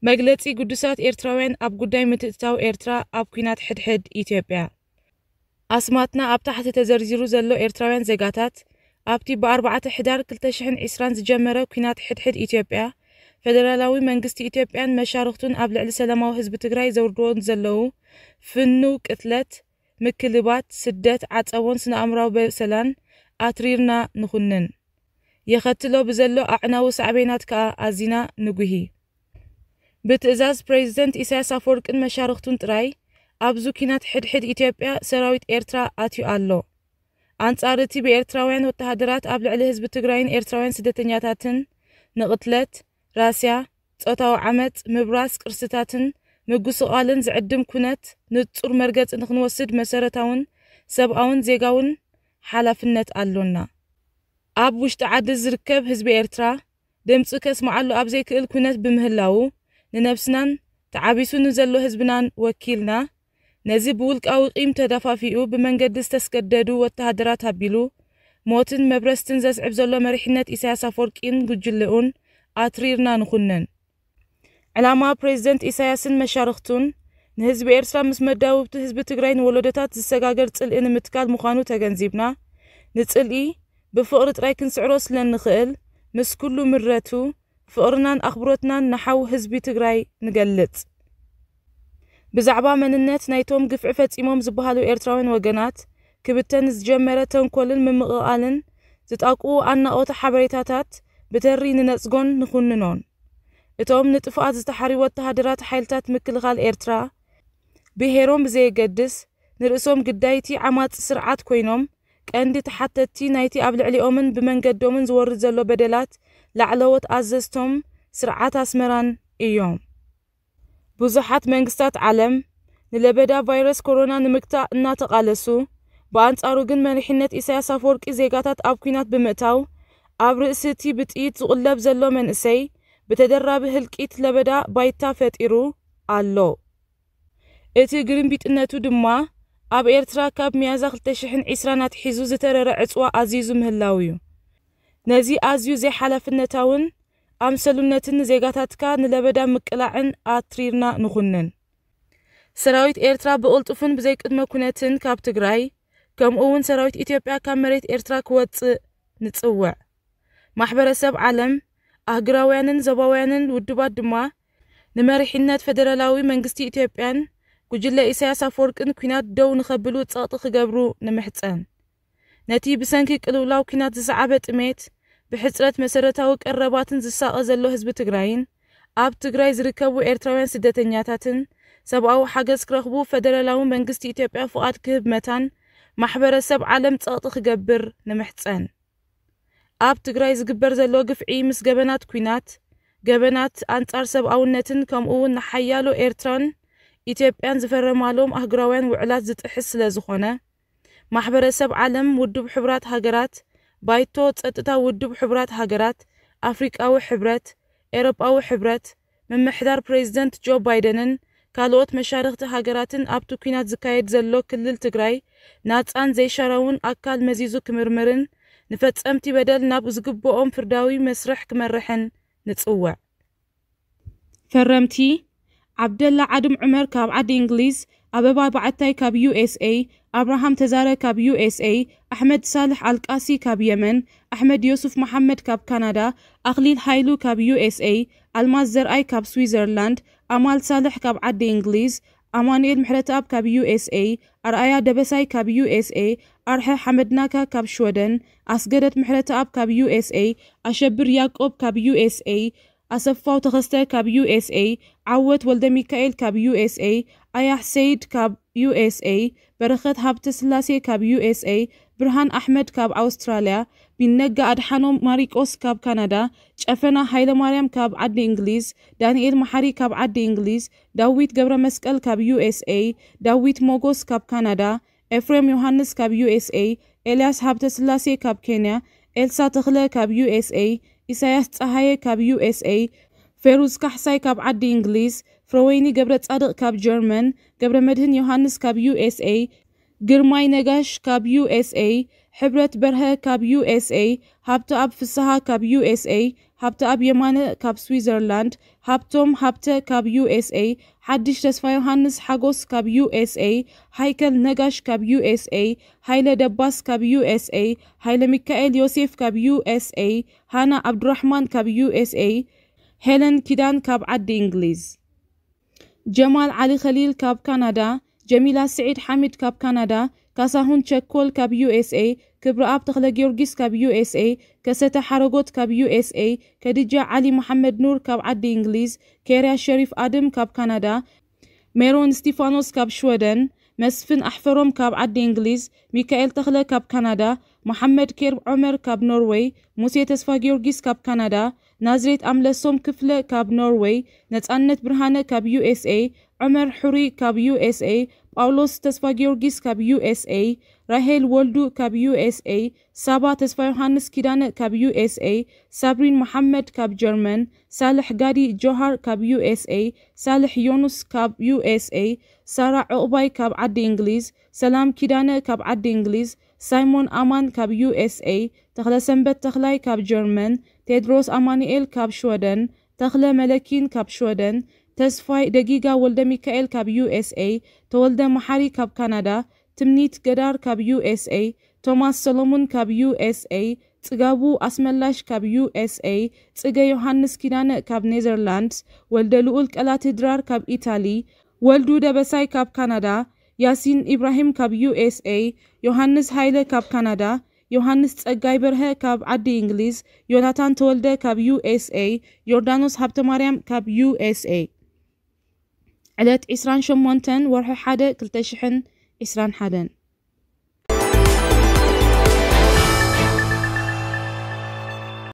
መግለጺ ግዱሳት ኤርትራውያን ኣብ ጉዳይ ምትእትታው ኤርትራ ኣብ ኲናት ሕድሕድ ኢትዮጵያ። ኣስማትና ኣብ ታሕቲ ተዘርዚሩ ዘሎ ኤርትራውያን ዜጋታት ኣብቲ ብ4 ሕዳር ክልተ ሽሕን ዕስራን ዝጀመረ ኲናት ሕድሕድ ኢትዮጵያ፣ ፈደራላዊ መንግስቲ ኢትዮጵያን መሻርኽቱን ኣብ ልዕሊ ሰላማዊ ህዝቢ ትግራይ ዘውርድዎ ዘለዉ ፍኑው ቅትለት፣ ምክልባት፣ ስደት፣ ዓጸቦን ስነ-ኣእምራዊ በሰላን ኣትሪርና ንኹንን። የኸትሎ ብዘሎ ኣዕናዊ ሳዕቤናት ከኣ ኣዚና ንጉሂ። ብትእዛዝ ፕሬዚደንት ኢሳያስ ኣፈወርቅን መሻርኽቱን ጥራይ ኣብዚ ኲናት ሕድሕድ ኢትዮጵያ ሰራዊት ኤርትራ ኣትዩ ኣሎ። ኣንጻር እቲ ብኤርትራውያን ወተሃደራት ኣብ ልዕሊ ህዝቢ ትግራይን ኤርትራውያን ስደተኛታትን ንቕትለት፣ ራስያ፣ ጾታዊ ዓመጽ፣ ምብራስ ቅርስታትን ምጉስቓልን ዝዕድም ኩነት ንጹር መርገጺ ንኽንወስድ መሰረታውን ሰብኣውን ዜጋውን ሓላፍነት ኣሎና። ኣብ ውሽጢ ዓዲ ዝርከብ ህዝቢ ኤርትራ ድምጹ ከስምዓሉ ኣብ ዘይክእል ኩነት ብምህላዉ፣ ንነብስናን ተዓቢሱ ንዘሎ ህዝብናን ወኪልና፣ ነዚ ብውልቃዊ ቂም ተደፋፊኡ ብመንገዲ ዝተስገደዱ ወተሃደራት ኣቢሉ ሞትን መብረስትን ዘስዕብ ዘሎ መሪሕነት ኢሳያስ ኣፈወርቂን ጉጅልኡን ኣትሪርና ንኹንን። ዕላማ ፕሬዚደንት ኢሳያስን መሻርኽቱን ንህዝቢ ኤርትራ ምስ መዳውብቲ ህዝቢ ትግራይ ንወለዶታት ዝሰጋገር ጽልኢ ንምትካል ምዃኑ ተገንዚብና፣ ንጽልኢ ብፍቕሪ ጥራይ ክንስዕሮ ስለ እንኽእል፣ ምስ ኩሉ ምረቱ ፍቕርናን ኣኽብሮትናን ንሓው ህዝቢ ትግራይ ንገልጽ። ብዛዕባ መንነት ናይቶም ግፍዒ ፈጺሞም ዝበሃሉ ኤርትራውያን ወገናት ክብተን ዝጀመረ ተንኮልን ምምቕቓልን ዝጣቅኡ ኣናቆተ ሓበሬታታት ብተሪ ንነጽጎን ንኹንኖን። እቶም ንጥፍኣት ዝተሓርዩ ወተሃደራት ሓይልታት ምክልኻል ኤርትራ ብሄሮም ብዘየገድስ ንርእሶም ግዳይቲ ዓማጺ ስርዓት ኮይኖም ቀንዲ ተሓተትቲ ናይቲ ኣብ ልዕሊኦምን ብመንገዶምን ዝወርድ ዘሎ በደላት ላዕለዎት ኣዘዝቶም ስርዓት ኣስመራን እዮም። ብዙሓት መንግስታት ዓለም ንለበዳ ቫይረስ ኮሮና ንምግታእ እናተቓለሱ፣ ብኣንጻሩ ግን መሪሕነት ኢሳያስ ኣፈወርቂ ዜጋታት ኣብ ኲናት ብምእታው፣ ኣብ ርእሲ እቲ ብጥይት ዝቑለብ ዘሎ መንእሰይ ብተደራቢ ህልቂት ለበዳ ባይታ ፈጢሩ ኣሎ። እቲ ግርምቢጥነቱ ድማ ኣብ ኤርትራ ካብ ሚያዝያ ክልተ ሽሕን ዕስራን ኣትሒዙ ዝተረረ ዕጽዋ ኣዚዙ ምህላው እዩ። ነዚ ኣዝዩ ዘይሓላፍነታውን ኣምሰሉነትን ንዜጋታትካ ንለበዳ ምቅላዕን ኣትሪርና ንኹንን። ሰራዊት ኤርትራ ብቕልጡፍን ብዘይቅድመ ኩነትን ካብ ትግራይ፣ ከምኡ እውን ሰራዊት ኢትዮጵያ ካብ መሬት ኤርትራ ክወጽእ ንጽውዕ። ማሕበረሰብ ዓለም፣ ኣህጉራውያንን ዞባውያንን ውድባት ድማ ንመሪሕነት ፈደራላዊ መንግስቲ ኢትዮጵያን ጉጅለ ኢሳያስ ኣፈወርቅን ኲናት ደው ንኸብሉ ጸቕጢ ክገብሩ ንምሕጸን። ነቲ ብሰንኪ ቅልውላው ኲናት ዝሰዓበ ጥሜት፣ ብሕጽረት መሰረታዊ ቀረባትን ዝሳቐ ዘሎ ህዝቢ ትግራይን ኣብ ትግራይ ዝርከቡ ኤርትራውያን ስደተኛታትን ሰብኣዊ ሓገዝ ክረኽቡ ፈደራላዊ መንግስቲ ኢትዮጵያ ፍቓድ ክህብ መታን ማሕበረሰብ ዓለም ጸቕጢ ክገብር ንምሕጸን። ኣብ ትግራይ ዝግበር ዘሎ ግፍዒ ምስ ገበናት ኲናት፣ ገበናት ኣንጻር ሰብኣውነትን ከምኡ እውን ንሓያሎ ኤርትራን ኢትዮጵያን ዝፈረማሎም ኣህጉራውያን ውዕላት ዝጥሕስ ስለ ዝኾነ፣ ማሕበረሰብ ዓለም፣ ውድብ ሕቡራት ሃገራት፣ ባይቶ ጸጥታ ውድብ ሕቡራት ሃገራት፣ ኣፍሪቃዊ ሕብረት፣ ኤውሮጳዊ ሕብረት፣ ምምሕዳር ፕሬዚደንት ጆ ባይደንን ካልኦት መሻርኽቲ ሃገራትን ኣብቲ ኲናት ዝካየድ ዘሎ ክልል ትግራይ ናጻን ዘይሻራውን ኣካል መዚዙ ክምርምርን ንፈጸምቲ በደል ናብ ዝግብኦም ፍርዳዊ መስርሕ ክመርሕን ንጽውዕ። ፈረምቲ፣ ዓብደላ ዓድም ዑመር ካብ ዓዲ እንግሊዝ፣ ኣበባ በዓታይ ካብ ዩኤስኤ፣ ኣብርሃም ተዛረ ካብ ዩኤስኤ፣ ኣሕመድ ሳልሕ ኣልቃሲ ካብ የመን፣ ኣሕመድ ዮሱፍ መሓመድ ካብ ካናዳ፣ ኣኽሊል ሃይሉ ካብ ዩኤስኤ፣ ኣልማዝ ዘርኣይ ካብ ስዊዘርላንድ፣ ኣማል ሳልሕ ካብ ዓዲ እንግሊዝ፣ ኣማኑኤል ምሕረተኣብ ካብ ዩኤስኤ፣ ኣርኣያ ደበሳይ ካብ ዩኤስኤ፣ ኣርሐ ሓመድናካ ካብ ሽወደን፣ ኣስገደት ምሕረተኣብ ካብ ዩኤስኤ፣ ኣሸብር ያቆብ ካብ ዩኤስኤ፣ ኣሰፋው ተኸስተ ካብ ዩኤስኤ፣ ዓወት ወልደሚካኤል ካብ ዩኤስኤ፣ ኣያሕ ሰይድ ካብ ዩኤስኤ፣ በረኸት ሃብተስላሴ ካብ ዩኤስኤ፣ ብርሃን ኣሕመድ ካብ ኣውስትራልያ፣ ቢነጋ ኣድሓኖም ማሪቆስ ካብ ካናዳ፣ ጨፈና ሃይለማርያም ካብ ዓዲ እንግሊዝ፣ ዳንኤል መሓሪ ካብ ዓዲ እንግሊዝ፣ ዳዊት ገብረ መስቀል ካብ ዩኤስኤ፣ ዳዊት ሞጎስ ካብ ካናዳ፣ ኤፍሬም ዮሃንስ ካብ ዩኤስኤ፣ ኤልያስ ሃብተስላሴ ካብ ኬንያ፣ ኤልሳ ተኽለ ካብ ዩኤስኤ፣ ኢሳያስ ጸሃየ ካብ ዩኤስኤ፣ ፌሩዝ ካሕሳይ ካብ ዓዲ እንግሊዝ፣ ፍረወይኒ ገብረ ጻድቕ ካብ ጀርመን፣ ገብረ መድህን ዮሃንስ ካብ ዩኤስኤ፣ ግርማይ ነጋሽ ካብ ዩኤስኤ፣ ሕብረት በርሀ ካብ ዩ ኤስ ኤ፣ ሃብተኣብ ፍስሃ ካብ ዩ ኤስ ኤ፣ ሃብተኣብ የማነ ካብ ስዊዘርላንድ፣ ሃብቶም ሃብተ ካብ ዩ ኤስ ኤ፣ ሓድሽ ተስፋ ዮሃንስ ሓጎስ ካብ ዩ ኤስ ኤ፣ ሃይከል ነጋሽ ካብ ዩ ኤስ ኤ፣ ሃይለ ደባስ ካብ ዩ ኤስ ኤ፣ ሃይለ ሚካኤል ዮሴፍ ካብ ዩ ኤስ ኤ፣ ሃና ኣብዱራሕማን ካብ ዩ ኤስ ኤ፣ ሄለን ኪዳን ካብ ዓዲ እንግሊዝ። ጀማል ዓሊ ኸሊል ካብ ካናዳ፣ ጀሚላ ስዒድ ሓሚድ ካብ ካናዳ፣ ካሳሁን ቸኮል ካብ ዩ ኤስ ኤ፣ ክብረኣብ ተኽለ ጊዮርጊስ ካብ ዩ ኤስ ኤ፣ ከሰተ ሓረጎት ካብ ዩ ኤስ ኤ፣ ከድጃ ዓሊ መሓመድ ኑር ካብ ዓዲ እንግሊዝ፣ ኬርያ ሸሪፍ ኣድም ካብ ካናዳ፣ ሜሮን እስቲፋኖስ ካብ ሽወደን፣ መስፍን ኣሕፈሮም ካብ ዓዲ እንግሊዝ፣ ሚካኤል ተኽለ ካብ ካናዳ፣ መሓመድ ኬር ዖመር ካብ ኖርወይ፣ ሙሴ ተስፋ ጊዮርጊስ ካብ ካናዳ፣ ናዝሬት ኣምለሶም ክፍለ ካብ ኖርወይ፣ ነጻነት ብርሃነ ካብ ዩ ኤስ ኤ፣ ዑመር ሑሪ ካብ ዩ ኤስ ኤ፣ ጳውሎስ ተስፋ ጊዮርጊስ ካብ ዩ ኤስ ኤ፣ ራሄል ወልዱ ካብ ዩ ኤስ ኤ፣ ሳባ ተስፋ ዮሃንስ ኪዳነ ካብ ዩ ኤስ ኤ፣ ሳብሪን መሓመድ ካብ ጀርመን፣ ሳልሕ ጋዲ ጆሃር ካብ ዩ ኤስ ኤ፣ ሳልሕ ዮኑስ ካብ ዩ ኤስ ኤ፣ ሳራ ዑቕባይ ካብ ዓዲ እንግሊዝ፣ ሰላም ኪዳነ ካብ ዓዲ እንግሊዝ፣ ሳይሞን ኣማን ካብ ዩ ኤስ ኤ፣ ተኽለሰንበት ተኽላይ ካብ ጀርመን፣ ቴድሮስ ኣማኑኤል ካብ ሽወደን፣ ተኽለ መለኪን ካብ ሽወደን፣ ተስፋይ ደጊጋ ወልደ ሚካኤል ካብ ዩ ኤስ ኤ፣ ተወልደ መሓሪ ካብ ካናዳ፣ ትምኒት ገዳር ካብ ዩ ኤስ ኤ፣ ቶማስ ሰሎሙን ካብ ዩ ኤስ ኤ፣ ጽጋቡ ኣስመላሽ ካብ ዩ ኤስ ኤ፣ ጽገ ዮሃንስ ኪዳነ ካብ ኔዘርላንድስ፣ ወልደ ልኡል ቀላቲ ድራር ካብ ኢታሊ፣ ወልዱ ደበሳይ ካብ ካናዳ፣ ያሲን ኢብራሂም ካብ ዩ ኤስ ኤ፣ ዮሃንስ ሃይለ ካብ ካናዳ፣ ዮሃንስ ጸጋይ በርሀ ካብ ዓዲ እንግሊዝ፣ ዮናታን ተወልደ ካብ ዩ ኤስ ኤ፣ ዮርዳኖስ ሃብተማርያም ካብ ዩ ኤስ ኤ። ዕለት ዕስራን ሸሞንተን ወርሒ ሓደ ክልተ ሽሕን ዕስራን ሓደን።